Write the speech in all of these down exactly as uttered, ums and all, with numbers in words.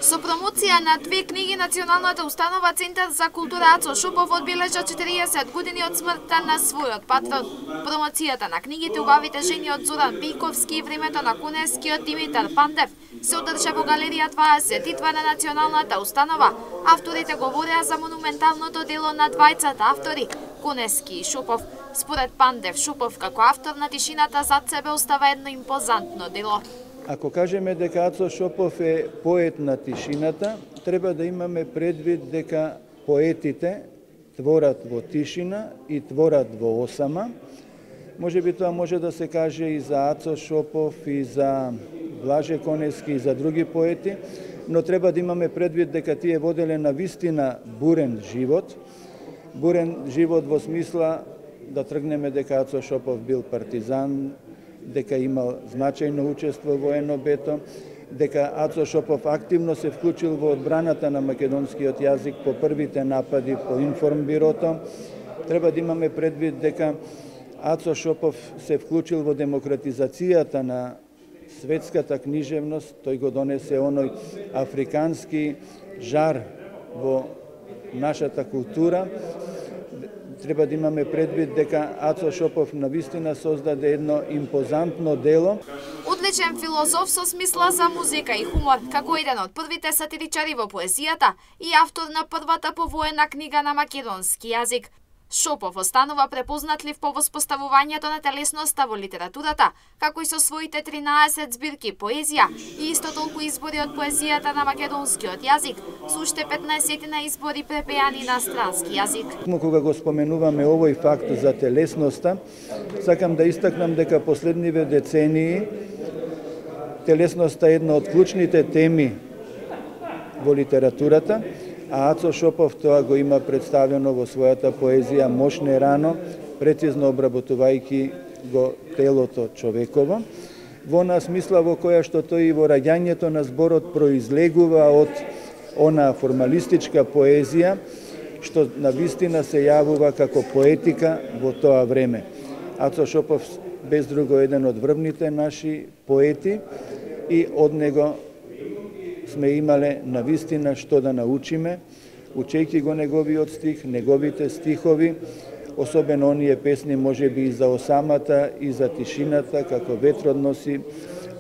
Со промоција на две книги, Националната установа Центар за култура Ацо Шопов одбележа четириесет години од смртта на својот патрон. Промоцијата на книгите "Убавите жени" од Зоран Пејковски и "Времето на Кунескиот" Димитар Пандев се одржа во галерија дваесет и два на Националната установа. Авторите говореа за монументалното дело на двајцата автори, Кунески и Шопов. Според Пандев, Шопов како автор на тишината зад себе остава едно импозантно дело. Ако кажеме дека Ацо Шопов е поет на тишината, треба да имаме предвид дека поетите творат во тишина и творат во осама. Може би тоа може да се каже и за Ацо Шопов, и за Блаже Конески, и за други поети, но треба да имаме предвид дека тие воделе на вистина бурен живот. Бурен живот во смисла да тргнеме дека Ацо Шопов бил партизан, дека имал значајно учество во ен о бе-то, дека Ацо Шопов активно се вклучил во одбраната на македонскиот јазик по првите напади по информбирото. Треба да имаме предвид дека Ацо Шопов се вклучил во демократизацијата на светската книжевност, тој го донесе оној африкански жар во нашата култура. Треба да имаме предвид дека Ацо Шопов навистина создаде едно импозантно дело. Одличен филозоф со смисла за музика и хумор, како еден од првите сатиричари во поезијата и автор на првата повоена книга на македонски јазик. Шопов останува препознатлив по воспоставувањето на телесноста во литературата, како и со своите тринаесет збирки поезија и исто толку избори од поезијата на македонскиот јазик, со уште петнаесет на избори препеани на странски јазик. Кога го споменуваме овој факт за телесноста, сакам да истакнам дека последниве децении телесноста е една од клучните теми во литературата, а Ацо Шопов тоа го има представено во својата поезија "Мошне рано", прецизно обработувајќи го телото човеково, во она смисла во која што тој и во раѓањето на зборот произлегува од она формалистичка поезија, што навистина се јавува како поетика во тоа време. Ацо Шопов без друго еден од врвните наши поети и од него сме имале навистина што да научиме, учејќи го неговиот стих, неговите стихови, особено оние песни можеби и за осамата и за тишината, како ветрот носи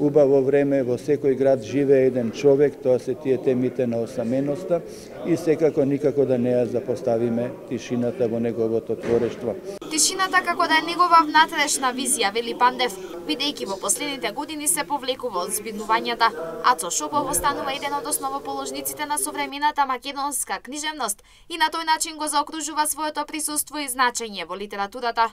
убаво време, во секој град живее еден човек, тоа се тие темите на осаменоста и секако никако да не ја запоставиме тишината во неговото творештво. Тишината како да е негова внатрешна визија, вели Пандев, бидејќи во последните години се повлекува од збирнувањата. Ацо Шопов останува еден од основоположниците на современата македонска книжевност и на тој начин го заокружува своето присуство и значење во литературата.